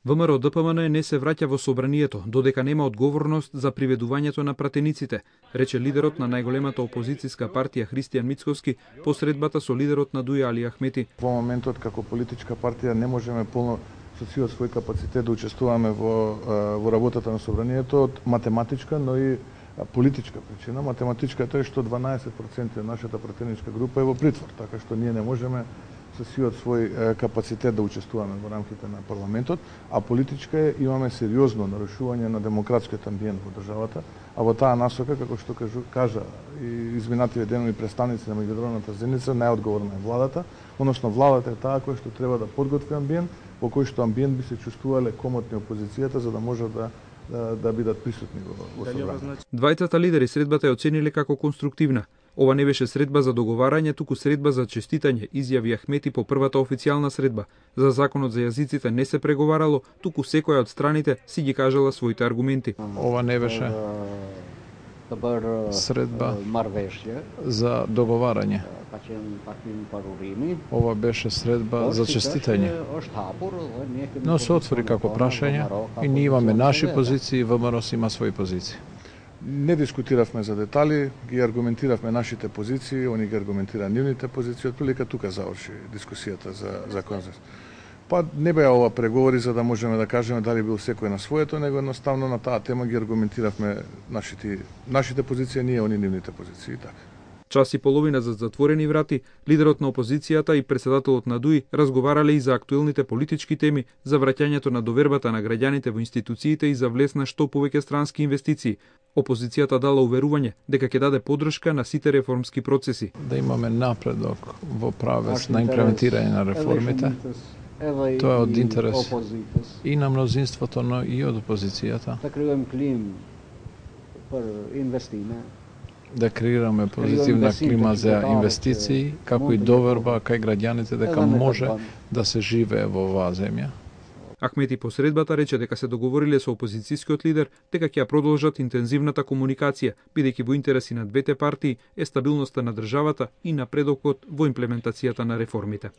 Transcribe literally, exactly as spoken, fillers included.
ВМРО Д П М Н не се враќа во собранието, додека нема одговорност за приведувањето на пратениците, рече лидерот на најголемата опозицијска партија Христијан Мицковски по средбата со лидерот на Дуја Али Ахмети. Во моментот како политичка партија не можеме полно со силот свој капацитет да учествуваме во во работата на собранието од математичка, но и политичка причина. Математичката е што дванаесет проценти од нашата пратеничка група е во притвор, така што ние не можеме со силот свој капацитет да учествуваме во рамките на парламентот, а политичка е имаме сериозно нарушување на демократскиот амбиент во државата, а во таа насока, како што кажу, кажа и изминативе денови представници на меѓународната заедница, најодговорна е владата, односно владата е таа која што треба да подготви амбиент, во кој што амбиент би се чувствувале комотни опозицијата за да може да да, да бидат присутни во, во собранието. Двајцата лидери средбата ја оцениле како конструктивна. Ова не беше средба за договарање, туку средба за честитање, изјави Ахмети по првата официјална средба. За законот за јазиците не се преговарало, туку секоја од страните си ги кажала своите аргументи. Ова не беше средба за договарање. Ова беше средба за честитање. Но се отвори како прашање и ние имаме наши позиции, ВМРО има своји позиции. Не дискутиравме за детали, ги аргументиравме нашите позиции, они ги аргументира нивните позиции, отприлика тука заврши дискусијата за за консенсус. Па не беа ова преговори за да можеме да кажеме дали бил секој на своето, него едноставно на таа тема ги аргументиравме нашите нашите позиции, ние они нивните позиции, така. Час и половина за затворени врати, лидерот на опозицијата и председателот на ДУИ разговарале и за актуелните политички теми, за враќањето на довербата на граѓаните во институциите и за влез на што повеќе странски инвестиции. Опозицијата дала уверување дека ќе даде поддршка на сите реформски процеси. Да имаме напредок во правец на имплементирање на реформите. Тоа е од интерес и на мнозинството, но и од опозицијата. Да креираме позитивна клима за инвестиции, како и доверба кај граѓаните дека може да се живее во оваа земја. Ахмети по средбата рече дека се договориле со опозицијскиот лидер дека ќе ја продолжат интензивната комуникација, бидејќи во интереси на двете партии е стабилноста на државата и напредокот во имплементацијата на реформите.